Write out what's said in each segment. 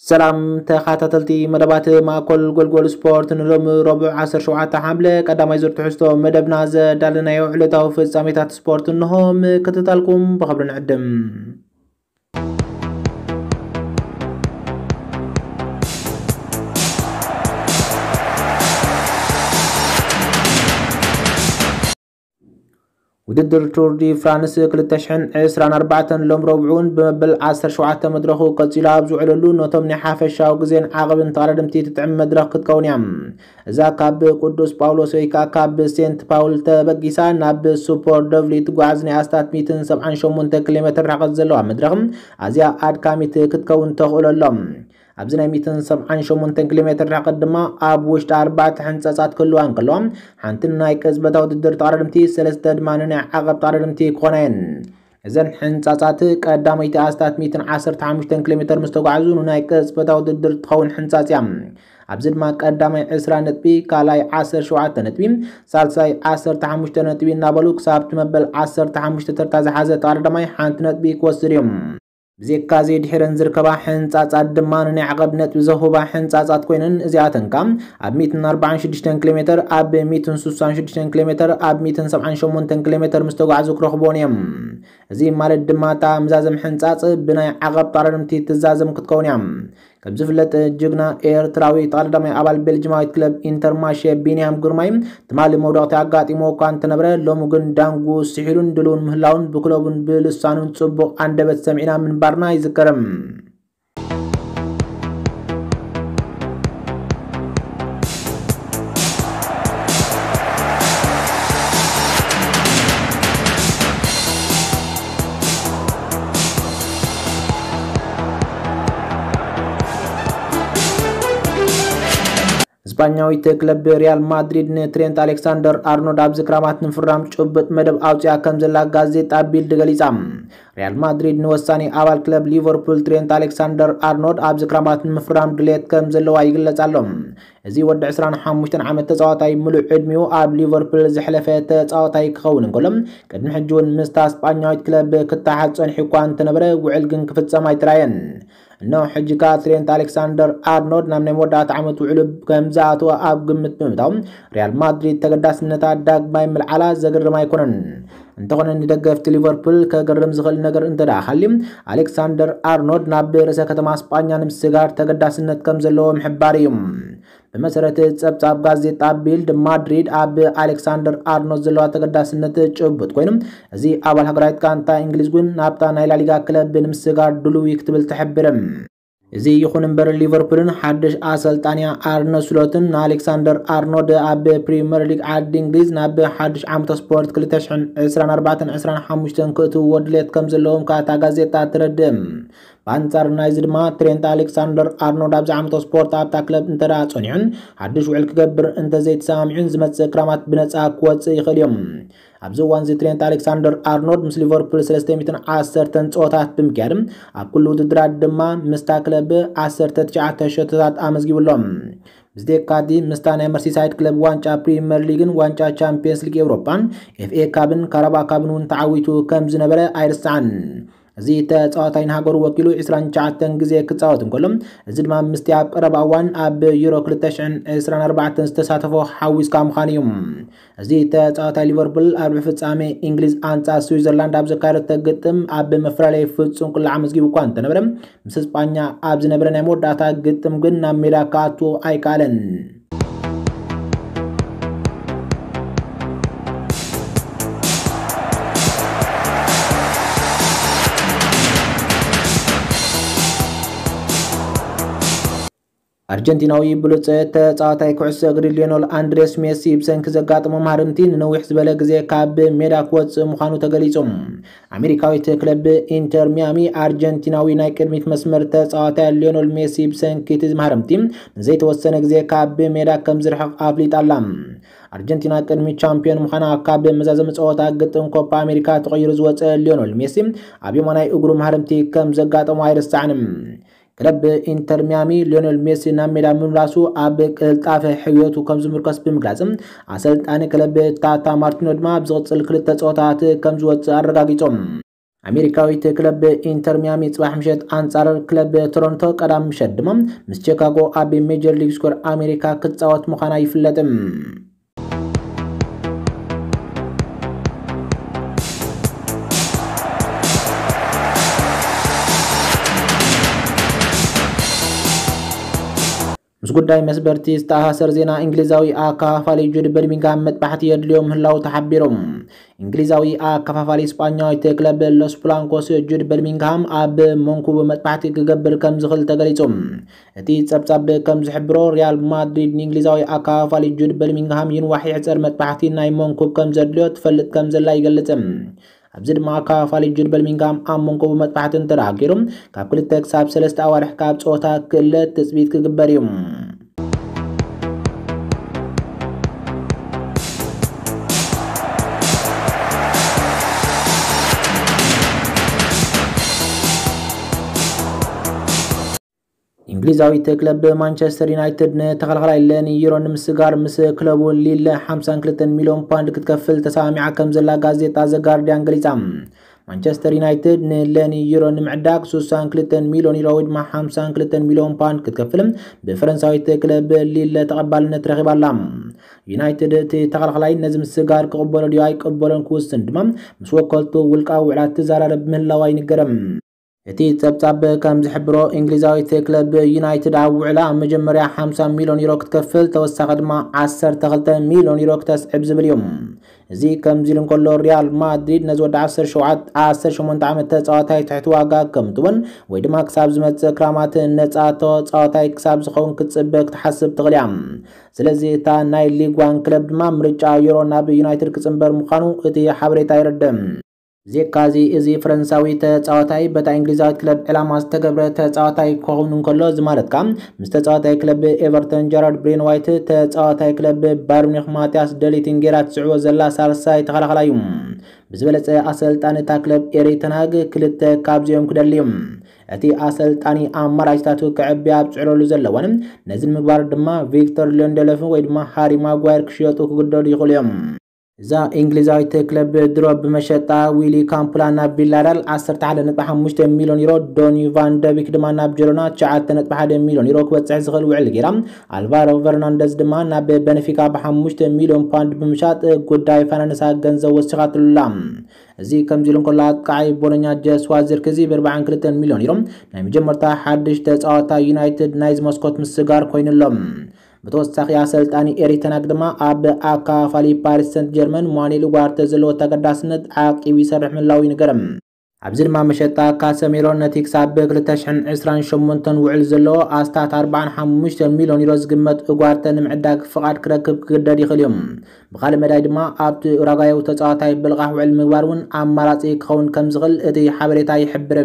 ሰላም ተኸታተልቲ መደባት ማእከል ጎልጎል ስፖርት፣ ንሎሚ ረቡዕ ዓሰርተ ሸውዓተ ሓምለ ቀዳማይ ዙር ትሕዝቶ መደብና ዘዳለናዮ ዕለታዊ ፍጻሜታት ስፖርት እንሆ፣ ምክትታልኩም ብኽብሪ ንዕድም። ውድድር ቱር ዲ ፍራንስ ክልተ ሽሕን ዕስራን ኣርባዕተን ሎም ረብዑን ብመበል ዓሰርተ ሸውዓተ መድረኹ ቀጺሉ ኣብ ዝውዕለሉ፣ ነቶም ናይ ሓፈሻዊ ግዜን ዓቐብን ተቐዳደምቲ ትጥዕም መድረኽ ክትከውን እያ። እዛ ካብ ቅዱስ ጳውሎስ ወይ ከኣ ካብ ሴንት ፓውል ተበጊሳ ናብ ሱፖር ደቭሊ ትጓዓዝ ናይ ኣስታት ሚእትን ሰብዓን ሸሞንተ ኪሎ ሜትር ርሕቀት ዘለዋ መድረኽ ኣዝያ ኣድካሚት ክትከውን ተኽእሎ ኣሎ። ኣብዚ ናይ ሚእትን ሰብዓን ሸሞንተ ኪሎ ሜትር ርሕቀት ድማ ኣብ ውሽጢ ኣርባዕተ ሕንጸጻት ክህልዋ እንከሎ፣ ሓንቲ ናይ ቅጽበታዊ ውድድር ተቐዳደምቲ፣ ሰለስተ ድማ ንናይ ዓቐብ ተቐዳደምቲ ክኾና እየን። እዘን ሕንጻጻት ቀዳመይቲ ኣስታት ሚእትን ዓሰርተ ሓሙሽተን ኪሎ ሜትር ምስ ተጓዕዙ፣ ንናይ ቅጽበታዊ ውድድር ትኸውን ሕንጻጽ እያ። ኣብዚ ድማ ቀዳማይ ዕስራ ነጥቢ፣ ካልኣይ ዓሰርተ ሸውዓተ ነጥቢ፣ ሳልሳይ ዓሰርተ ሓሙሽተ ነጥቢ እናበሉ ክሳብ እቲ መበል ዓሰርተ ሓሙሽተ ተርታ ዝሓዘ ተቐዳዳማይ ሓንቲ ነጥቢ ክወስድ እዮም። ብዘይካዚ ድሒረን ዝርከባ ሕንጻጻት ድማ ንናይ ዓቐብ ነጥቢ ዘሁባ ሕንጻጻት ኮይነን፣ እዚኣተን ከኣ ኣብ ሚእትን ኣርባዓን ሽዱሽተን ኪሎ ሜትር፣ ኣብ ሚእትን ስሳን ሽዱሽተን ኪሎ ሜትር፣ ኣብ ሚእትን ሰብዓን ሸሞንተን ኪሎ ሜትር ምስ ተጓዕዙ ክረኽብዎን እዮም። እዚ ማለት ድማ እታ ምዛዘም ሕንጻጽ ብናይ ዓቐብ ተቐዳደምቲ ትዛዘም ክትከውን እያ። ከም ዝፍለጥ ጅግና ኤርትራዊ ተቐዳዳማይ ኣባል ቤልጅማዊት ክለብ ኢንተርማሼ ቢንያም ግርማይ ትማሊ መውደቕቲ ኣጋጢሞ እኳ እንተነበረ፣ ሎሚ ግን ዳንጉ ስሒሉን ድልውን ምህላውን ብክለቡን ብልሳኑን ጽቡቕ ኣንደበት ሰሚዕና ምንባርና ይዝከርም። ስፓኛዊት ክለብ ሪያል ማድሪድ ንትሬንት ኣሌክሳንደር ኣርኖልድ ኣብዚ ክራማት ንምፍራም ጭቡጥ መደብ ኣውፅኣ ከም ዘላ ጋዜጣ ቢልድ ገሊፃ። ሪያል ማድሪድ ንወሳኒ ኣባል ክለብ ሊቨርፑል ትሬንት ኣሌክሳንደር ኣርኖልድ ኣብዚ ክራማት ንምፍራም ድሌት ከም ዘለዋ ይግለጽ ኣሎ። እዚ ወዲ ዕስራን ሓሙሽተን ዓመት ተጻዋታይ ምሉእ ዕድሚኡ ኣብ ሊቨርፑል ዘሕለፈ ተጻዋታይ ክኸውን እንከሎ፣ ቅድሚ ሕጂ እውን ምስታ ስጳኛዊት ክለብ ክተሓዝ ጸኒሑ እኳ እንተነበረ፣ ውዕል ግን ክፍጸም ኣይተራየን። እነሆ ሕጂ ከኣ ትሬንት ኣሌክሳንደር ኣርኖልድ ናብ ናይ መወዳእታ ዓመት ውዕሉ ከም ዝኣተወ ኣብ ግምት ብምእታው፣ ሪያል ማድሪድ ተገዳስነታ ዳግማይ ምልዓላ ዘገርም ኣይኮነን። እንተኾነ፣ ንደገፍቲ ሊቨርፑል ከገርም ዝኽእል ነገር እንተ ደኣ ሃልዩ፣ ኣሌክሳንደር ኣርኖልድ ናብ ርእሰ ከተማ ስጳኛ ንምስጋር ተገዳስነት ከም ዘለዎ ምሕባር እዩ። ብመሰረት ጸብጻብ ጋዜጣ ቢልድ፣ ማድሪድ ኣብ ኣሌክሳንደር ኣርኖልድ ዘለዋ ተገዳስነት ጭቡጥ ኮይኑ፣ እዚ ኣባል ሃገራዊት ጋንታ እንግሊዝ እውን ናብታ ናይ ላሊጋ ክለብ ንምስጋር ድሉው እዩ ክትብል ትሕብር። እዚ ይኹን እምበር፣ ሊቨርፑልን ሓድሽ ኣሰልጣንያ ኣርነ ስሎትን ንኣሌክሳንደር ኣርኖልድ ኣብ ፕሪምየር ሊግ ዓዲ እንግሊዝ ናብ ሓድሽ ዓመተ ስፖርት ክልተ ሽሕን ዕስራን ኣርባዕተን ዕስራን ሓሙሽተን ክእትውዎ ድሌት ከም ዘለዎም ከኣ እታ ጋዜጣ ትረድእ። ብኣንጻር ናይዚ ድማ፣ ትሬንት ኣሌክሳንደር ኣርኖልድ ኣብዚ ዓመተ ስፖርት ኣብታ ክለብ እንተ ደኣ ጸኒሑን ሓድሽ ውዕል ክገብር እንተ ዘይተሰማሚዑን፣ ዝመጽእ ክራማት ብነጻ ክወጽእ ይኽእል እዩ። ኣብዚ እዋን እዚ ትሬንት ኣሌክሳንደር ኣርኖልድ ምስ ሊቨርፑል ሰለስተ ሚእትን ዓሰርተን ጸወታት ብምክያድ፣ ኣብ ኩሉ ውድድራት ድማ ምስታ ክለብ ዓሰርተ ትሽዓተ ሸቶታት ኣመዝጊቡ ኣሎ። ብዝተካቲ ምስታ ናይ መርሲሳይድ ክለብ ዋንጫ ፕሪምየር ሊግን ዋንጫ ቻምፒየንስ ሊግ ኤውሮፓን ኤፍኤ ካብን ካራባ ካብን እውን ተዓዊቱ ከም ዝነበረ ኣይርሳዕን። እዚ ተጻዋታይ ንሃገሩ ወኪሉ ዕስራን ትሽዓተን ግዜ ክጻወት እንከሎ፣ እዚ ድማ ምስቲ ኣብ ቀረባ እዋን ኣብ ዩሮ ክልተ ሽሕን ዕስራን ኣርባዕተን ዝተሳተፎ ሓዊስካ ምዃኑ እዩ። እዚ ተጻዋታይ ሊቨርፑል ኣብ ርብዒ ፍጻሜ እንግሊዝ ኣንጻር ስዊዘርላንድ ኣብ ዘካየደቶ ግጥም ኣብ መፈላለዪ ፍጹም ቅላዕ ኣመዝጊቡ እኳ እንተነበረ፣ ምስ ስጳኛ ኣብ ዝነበረ ናይ መወዳእታ ግጥም ግን ናብ ሜዳ ክኣቱ ኣይከኣለን። ኣርጀንቲናዊ ብሉጽ ተጻዋታይ ኩዕሶ እግሪ ሊዮነል ኣንድሬስ ሜሲ ብሰንኪ ዘጋጠሞ ማህርምቲ ንነዊሕ ዝበለ ግዜ ካብ ሜዳ ክወጽእ ምዃኑ ተገሊጹ። ኣሜሪካዊት ክለብ ኢንተር ሚያሚ፣ ኣርጀንቲናዊ ናይ ቅድሚት መስመር ተጻዋታይ ሊዮነል ሜሲ ብሰንኪ እቲ ማህርምቲ ንዘይተወሰነ ግዜ ካብ ሜዳ ከም ዝርሕቕ ኣፍሊጣ ኣላ። ኣርጀንቲና ቅድሚ ቻምፒዮን ምዃና ካብ መዛዘሚ ጸወታ ግጥም ኮፓ ኣሜሪካ ተቐይሩ ዝወጸ ሊዮነል ሜሲ፣ ኣብ የማናይ እግሩ ማህረምቲ ከም ዘጋጠሞ ኣይርሳዕን። ክለብ ኢንተር ሚያሚ፣ ሊዮነል ሜሲ ናብ ሜዳ ምምላሱ ኣብ ቅልጣፈ ሕውየቱ ከም ዝምርኮስ ብምግላጽ፣ ኣሰልጣኒ ክለብ ታታ ማርቲኖ ድማ ኣብ ዝቕጽል ክልተ ጸወታት ከም ዝወጽእ ኣረጋጊጾም። ኣሜሪካዊት ክለብ ኢንተር ሚያሚ ጽባሕ ምሸት ኣንጻር ክለብ ቶሮንቶ፣ ቀዳም ምሸት ድማ ምስ ቺካጎ ኣብ ሜጀር ሊግ ስኮር ኣሜሪካ ክትጻወት ምዃና ይፍለጥ። ምስ ጉዳይ መስበርቲ ዝተኣሳሰር ዜና፣ እንግሊዛዊ ኣከፋፋሊ ጁድ በርሚንግሃም መጥባሕቲ የድልዮ ምህላው ተሓቢሩ። እንግሊዛዊ ኣከፋፋሊ ስጳኛዊት ክለብ ሎስ ብላንኮስ ጁድ በርሚንግሃም ኣብ መንኩቡ መጥባሕቲ ክገብር ከም ዝኽእል ተገሊጹ። እቲ ጸብጻብ ከም ዝሕብሮ፣ ሪያል ማድሪድ ንእንግሊዛዊ ኣከፋፋሊ ጁድ በርሚንግሃም ይንዋሕ ይሕጸር መጥባሕቲ ናይ መንኩብ ከም ዘድልዮ ትፈልጥ ከም ዘላ ይገልጽ። ኣብዚ ድማ ኣከፋፋሊ ጁድ በርሚንግሃም ኣብ መንኩቡ መጥባሕቲ እንተደኣ ገይሩ፣ ካብ ክልተ ክሳብ ሰለስተ ኣዋርሕ ካብ ጸወታ ክእለ ትጽቢት ክግበር እዩ። እንግሊዛዊት ክለብ ማንቸስተር ዩናይትድ ንተኸላኻላይ ለኒ ዩሮ ንምስጋር ምስ ክለቡ ሊል ሓምሳን ክልተን ሚልዮን ፓውንድ ክትከፍል ተሰማሚዓ ከም ዘላ ጋዜጣ ዘ ጋርዲያን ገሊጻ። ማንቸስተር ዩናይትድ ንለኒ ዩሮ ንምዕዳግ ስሳን ክልተን ሚልዮን ዩሮ ወይ ድማ ሓምሳን ክልተን ሚልዮን ፓውንድ ክትከፍል ብፈረንሳዊት ክለብ ሊል ተቐባልነት ረኺባ ኣላ። ዩናይትድ እቲ ተኸላኻላይ ነዚ ምስጋር ክቕበሎ ድዩ ኣይቅበሎን ክውስን ድማ ምስ ወከልቱ ውልቃዊ ውዕላት ትዛራረብ ምህላዋ ይንገር። እቲ ጸብጻብ ከም ዝሕብሮ፣ እንግሊዛዊት ክለብ ዩናይትድ ኣብ ውዕላ ኣብ መጀመርያ ሓምሳ ሚልዮን ዩሮ ክትከፍል፣ ተወሳኺ ድማ ዓሰርተ ክልተ ሚልዮን ዩሮ ክተስዕብ ዝብል እዩ። እዚ ከምዚ ኢሉ እንከሎ፣ ሪያል ማድሪድ ነዚ ወዲ ዓሰርተ ሸውዓተ ዓሰርተ ሸሞንተ ዓመት ተጻዋታይ ትሕቲ ዋጋ ከም ትወን ወይ ድማ ክሳብ ዝመጽእ ክራማት ነጻ ተጻዋታይ ክሳብ ዝኸውን ክትጽበ ክትሓስብ ትኽእል እያ። ስለዚ እታ ናይ ሊግ ዋን ክለብ ድማ ምርጫ ዩሮ ናብ ዩናይትድ ክጽንበር ምዃኑ እቲ ሓበሬታ የረድእ። ብዘይካዚ፣ እዚ ፈረንሳዊ ተጻዋታይ በታ እንግሊዛዊት ክለብ ዕላማ ዝተገብረ ተጻዋታይ ክኸውን እንከሎ፣ እዚ ማለት ከኣ ምስ ተጻዋታይ ክለብ ኤቨርተን ጀራርድ ብሬን ዋይት፣ ተጻዋታይ ክለብ ባየር ሚኒክ ማቲያስ ደሊትን ጌራ ትስዕቦ ዘላ ሳልሳይ ተኸላኻላይ እዩ። ብዝበለጸ ኣሰልጣኒ እታ ክለብ ኤሪክ ተን ሃግ ክልተ ካብዚኦም ክደሊ እዩ። እቲ ኣሰልጣኒ ኣማራጭታቱ ክዕብያ ኣብ ዝጽዕረሉ ዘለዋን ነዚ ንምግባር ድማ ቪክቶር ሊንደሎፍ ወይ ድማ ሃሪ ማጓየር ክሽየጡ ክግደዱ ይኽእሉ እዮም። እዛ እንግሊዛዊት ክለብ ድሮ ብመሸጣ ዊሊ ካምፕላ ናብ ቪላሪያል ዓሰርተ ሓደ ነጥቢ ሓሙሽተ ሚልዮን ዩሮ፣ ዶኒ ቫን ደቢክ ድማ ናብ ጀሮና ትሽዓተ ነጥቢ ሓደ ሚልዮን ዩሮ ክበጽሕ ዝኽእል ውዕል ገይራ፣ ኣልቫሮ ፈርናንደዝ ድማ ናብ በነፊካ ብሓሙሽተ ሚልዮን ፓውንድ ብምሻጥ ጉዳይ ፋይናንሳ ገንዘብ ወሲኻትሉ ኣላ። እዚ ከምዚ ኢሉ እንከሎ፣ ኣጥቃዓይ ቦሎኛ ጀስዋ ዚርክዚ ብኣርባዓን ክልተን ሚልዮን ዩሮ ናይ መጀመርታ ሓድሽ ተጻዋታይ ዩናይትድ ናይዚ መስኮት ምስጋር ኮይኑ ኣሎ። ብተወሳኺ ኣሰልጣኒ ኤሪክ ተን ሃግ ድማ ኣብ ኣካፋሊ ፓሪስ ሰንት ጀርመን ማኑኤል ኡጋርተ ዘለዎ ተገዳስነት ዓቂቡ ይሰርሕ ምህላዉ ይንገር። ኣብዚ ድማ መሸጣ ካሰሚሮ ነቲ ክሳብ ክልተ ሽሕን ዕስራን ሸሞንተን ውዕል ዘለዎ ኣስታት ኣርባዓን ሓሙሽተን ሚልዮን ዩሮ ዝግመት ኡጋርተ ንምዕዳግ ፍቓድ ክረክብ ክግደድ ይኽእል እዩ። ብኻልእ መዳይ ድማ ኣብቲ ኡራጓያዊ ተጻዋታይ ብልቓሕ ውዕል ምግባር እውን ኣማራጺ ክኸውን ከም ዝኽእል እቲ ሓበሬታ ይሕብር።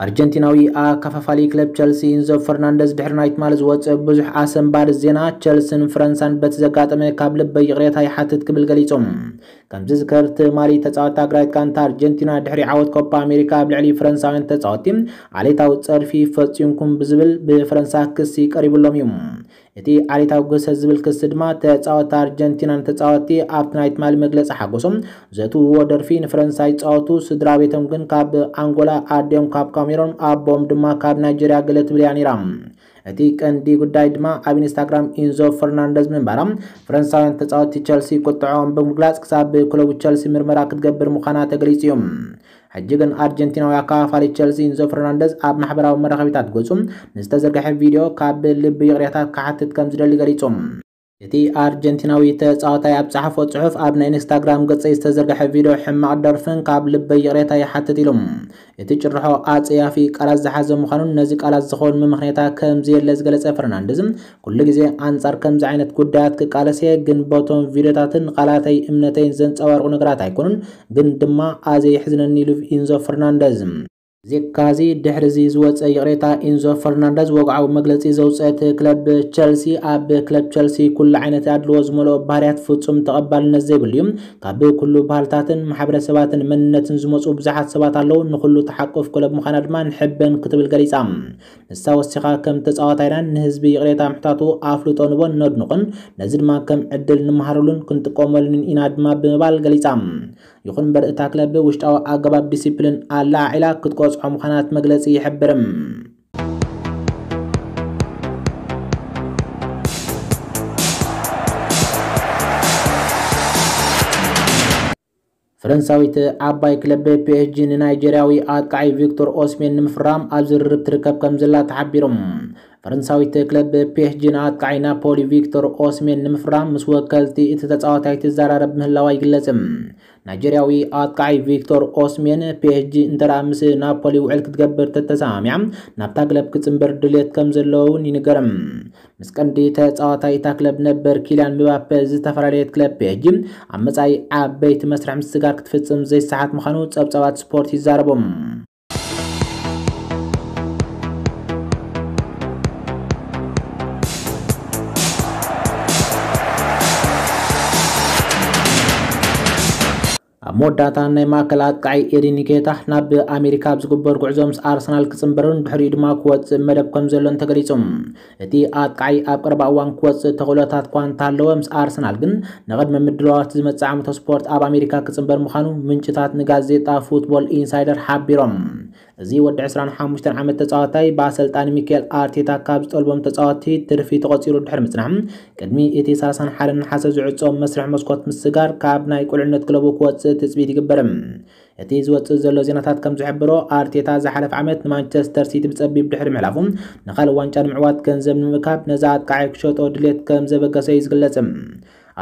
ኣርጀንቲናዊ ኣከፋፋሊ ክለብ ቸልሲ ኢንዞ ፈርናንደዝ ድሕሪ ናይ ትማሊ ዝወጸ ብዙሕ ኣሰንባዲ ዜና፣ ቸልስን ፈረንሳን በቲ ዘጋጠመ ካብ ልበይ ይቕሬታ ይሓትት ክብል ገሊጹ። ከም ዝዝከር፣ ትማሊ ተጻወትቲ ኣግራይት ጋንታ ኣርጀንቲና ድሕሪ ዓወት ኮፓ ኣሜሪካ ኣብ ልዕሊ ፈረንሳውያን ተጻወትቲ ዓሌታዊ ጸርፊ ፈጺምኩም ብዝብል ብፈረንሳ ክሲ ቀሪብሎም እዩ። እቲ ዓሌታዊ ግህሰት ዝብል ክሲ ድማ ተጻወትቲ ኣርጀንቲናን ተጻወትቲ ኣብቲ ናይ ትማሊ መግለጺ ሓጎሶም ዘእትውዎ ደርፊ ንፈረንሳ ይጻወቱ፣ ስድራ ቤቶም ግን ካብ ኣንጎላ፣ ኣዲኦም ካብ ካሜሮን፣ ኣቦኦም ድማ ካብ ናይጀርያ ገለ ትብል እያ ነይራ። እቲ ቀንዲ ጉዳይ ድማ ኣብ ኢንስታግራም ኢንዞ ፈርናንደዝ ምንባራ ፈረንሳውያን ተጻወትቲ ቸልሲ ቁጥዐኦም ብምግላጽ ክሳብ ክለቡ ቸልሲ ምርመራ ክትገብር ምዃና ተገሊጹ እዩ። ሕጂ ግን ኣርጀንቲናዊ ኣከፋፋሊ ቸልሲ ኢንዞ ፈርናንደዝ ኣብ ማሕበራዊ መራኸቢታት ገጹ ንዝተዘርግሐ ቪድዮ ካብ ልቢ ይቕሬታ ክሓትት ከም ዝደሊ ገሊጹ። እቲ ኣርጀንቲናዊ ተጻዋታይ ኣብ ጸሓፎ ጽሑፍ፣ ኣብ ናይ ኢንስታግራም ገጸይ ዝተዘርግሐ ቪድዮ ሕማቕ ደርፍን ካብ ልበይ ይቕሬታ ይሓትት ኢሉ። እቲ ጭርሖ ኣጸያፊ ቃላት ዝሓዘ ምዃኑን ነዚ ቃላት ዝኸውን መመኽነያታ ከም ዘየለ ዝገለጸ ፈርናንደዝ፣ ኩሉ ግዜ ኣንጻር ከምዚ ዓይነት ጉዳያት ክቃለስ እየ፣ ግን በቶም ቪድዮታትን ቃላተይ እምነተይን ዘንጸባርቑ ነገራት ኣይኮኑን፣ ግን ድማ ኣዝየ የሕዝነኒ ኢሉ ኢንዞ ፈርናንደዝ። ዜካዚ ድሕሪ እዚ ዝወፀ ይቕሬታ፣ ኢንዞ ፈርናንደዝ ወግዓዊ መግለፂ ዘውፀት ክለብ ቸልሲ፣ ኣብ ክለብ ቸልሲ ኩሉ ዓይነት ኣድልዎ ዝመልኦ ባህርያት ፍጹም ተቐባልነት ዘይብሉ እዩ። ካብ ኩሉ ባህልታትን ማሕበረሰባትን መንነትን ዝመፁ ብዙሓት ሰባት ኣለዉ። ንኹሉ ተሓቁፍ ክለብ ምዃና ድማ ንሕበን ክትብል ገሊጻ። ንሳ ወሲኻ፣ ከም ተጻዋታይና ንህዝቢ ይቕሬታ ምሕታቱ ኣፍልጦ ንቦን ነድንቑን፣ ነዚ ድማ ከም ዕድል ንምሃረሉን ክንጥቀመሉን ኢና ድማ ብምባል ገሊጻ። ይኹን እምበር እታ ክለብ ውሽጣዊ ኣገባብ ዲሲፕሊን ኣላዓዒላ ክትቆጽዖ ምዃና እቲ መግለጺ ይሕብር። ፈረንሳዊት ዓባይ ክለብ ፒኤስጂ ንናይጀርያዊ ኣጥቃዒ ቪክቶር ኦስሜን ንምፍራም ኣብ ዝርርብ ትርከብ ከም ዘላ ተሓቢሩ። ፈረንሳዊት ክለብ ፒኤስጂ ንኣጥቃዒ ናፖሊ ቪክቶር ኦስሜን ንምፍራም ምስ ወከልቲ እቲ ተጻዋታይ ትዘራረብ ምህላዋ ይግለጽ። ናይጀርያዊ ኣጥቃዒ ቪክቶር ኦስሜን፣ ፒኤስጂ እንተ ምስ ናፖሊ ውዕል ክትገብር ተተሰማሚዓ፣ ናብታ ክለብ ክጽንበር ድልየት ከም ዘለዎ እውን ይንገር። ምስ ቀንዲ ተጻዋታይ እታ ክለብ ነበር ኪልያን ምባፔ ዝተፈላለየት ክለብ ፒኤስጂ፣ ኣብ መጻኢ ዓበይቲ መስርሕ ምስግጋር ክትፍጽም ዘይሰሓት ምዃኑ ጸብጻባት ስፖርት ይዛረቡ። ኣብ መወዳእታ፣ ናይ ማእከል ኣጥቃዒ ኤዲ ኒኬታ ናብ ኣሜሪካ ኣብ ዝግበር ጉዕዞ ምስ ኣርሰናል ክጽንበርን ድሕሪኡ ድማ ክወጽእ መደብ ከም ዘሎን ተገሊጹ። እቲ ኣጥቃዒ ኣብ ቀረባ እዋን ክወጽእ ተኽእሎታት እኳ እንተሃለወ፣ ምስ ኣርሰናል ግን ንቕድመ ምድላዋት ዝመጽእ ዓመተ ስፖርት ኣብ ኣሜሪካ ክጽንበር ምዃኑ ምንጭታት ንጋዜጣ ፉትቦል ኢንሳይደር ሓቢሮም። እዚ ወዲ ዕስራን ሓሙሽተን ዓመት ተጻዋታይ ብኣሰልጣኒ ሚካኤል ኣርቴታ ካብ ዝጠልቦም ተጻዋቲ ትርፊ ተቖጺሩ ድሕሪ ምጽናሕ፣ ቅድሚ እቲ ሰላሳን ሓደን ነሓሰ ዝዕጾ መስርሕ መስኮት ምስጋር ካብ ናይ ቁልዕነት ክለቡ ክወጽእ ትጽቢት ይግበር። እቲ ዝወጽእ ዘሎ ዜናታት ከም ዝሕብሮ፣ ኣርቴታ ዝሓለፈ ዓመት ንማንቸስተር ሲቲ ብጸቢብ ድሕሪ ምሕላፉ፣ ንኻልእ ዋንጫ ንምዕዋት ገንዘብ ንምእካብ ነዛ ኣጥቃዒ ክሸጦ ድሌት ከም ዘበገሰ እዩ ዝግለጽ።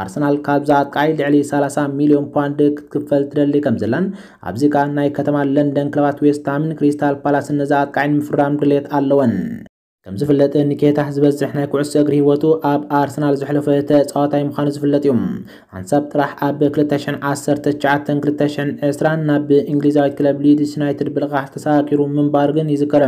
ኣርሰናል ካብዛ ኣጥቃዒ ልዕሊ ሰላሳ ሚልዮን ፓውንድ ክትክፈል ትደሊ ከም ዘላን፣ ኣብዚ ከኣ ናይ ከተማ ለንደን ክለባት ዌስትሃምን ክሪስታል ፓላስን ነዛ ኣጥቃዒ ንምፍራም ድሌት ኣለወን። ከም ዝፍለጥ፣ ኒኬታ ዝበዝሕ ናይ ኩዕሶ እግሪ ህይወቱ ኣብ ኣርሰናል ዘሕለፈ ተጻዋታይ ምዃኑ ዝፍለጥ እዩ። ሓንሳብ ጥራሕ ኣብ ክልተ ሽሕን ዓሰርተ ትሽዓተን ክልተ ሽሕን ዕስራን ናብ እንግሊዛዊት ክለብ ሊድስ ዩናይትድ ብልቓሕ ተሰጋጊሩ ምንባሩ ግን ይዝከር።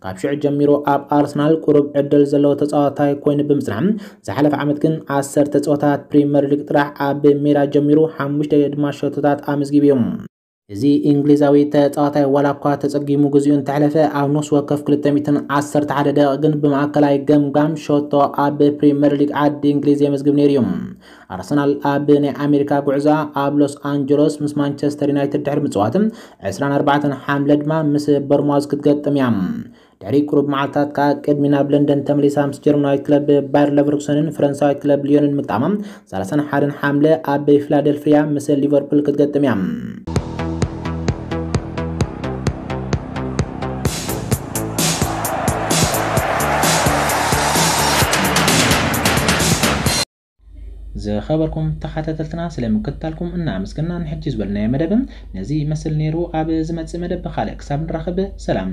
ካብ ሽዑ ጀሚሩ ኣብ ኣርሰናል ቁሩብ ዕድል ዘለዎ ተጻዋታይ ኮይኑ ብምጽናሕ፣ ዝሓለፈ ዓመት ግን ዓሰርተ ጸወታት ፕሪምየር ሊግ ጥራሕ ኣብ ሜዳ ጀሚሩ፣ ሓሙሽተ ድማ ሸቶታት ኣመዝጊቡ እዩ። እዚ እንግሊዛዊ ተጻዋታይ ዋላ እኳ ተጸጊሙ ግዚኡ እንተሕለፈ፣ ኣብ ነፍሲ ወከፍ ክልተ ሚእትን ዓሰርተ ሓደ ደቂቕ ግን ብማእከላይ ገምጋም ሸቶ ኣብ ፕሪምየር ሊግ ዓዲ እንግሊዝ የመዝግብ ነይሩ እዩ። ኣርሰናል ኣብ ናይ ኣሜሪካ ጉዕዞኣ ኣብ ሎስ ኣንጀሎስ ምስ ማንቸስተር ዩናይትድ ድሕሪ ምጽዋት፣ ዕስራን ኣርባዕተን ሓምለ ድማ ምስ በርማዝ ክትገጥም እያ። ድሕሪ ቁሩብ መዓልታት ከኣ ቅድሚ ናብ ለንደን ተመሊሳ ምስ ጀርመናዊት ክለብ ባየር ለቨርኩሰንን ፈረንሳዊት ክለብ ሊዮንን ምግጣማ፣ ሰላሳን ሓደን ሓምለ ኣብ ፊላደልፊያ ምስ ሊቨርፑል ክትገጥም እያ። ዝኸበርኩም ተኸታተልትና፣ ስለ ምክትታልኩም እናኣመስገና፣ ንሕጂ ዝበልናዮ መደብ ነዚ ይመስል ነይሩ። ኣብ ዝመጽእ መደብ ብኻልእ ክሳብ ንራኸብ፣ ሰላም።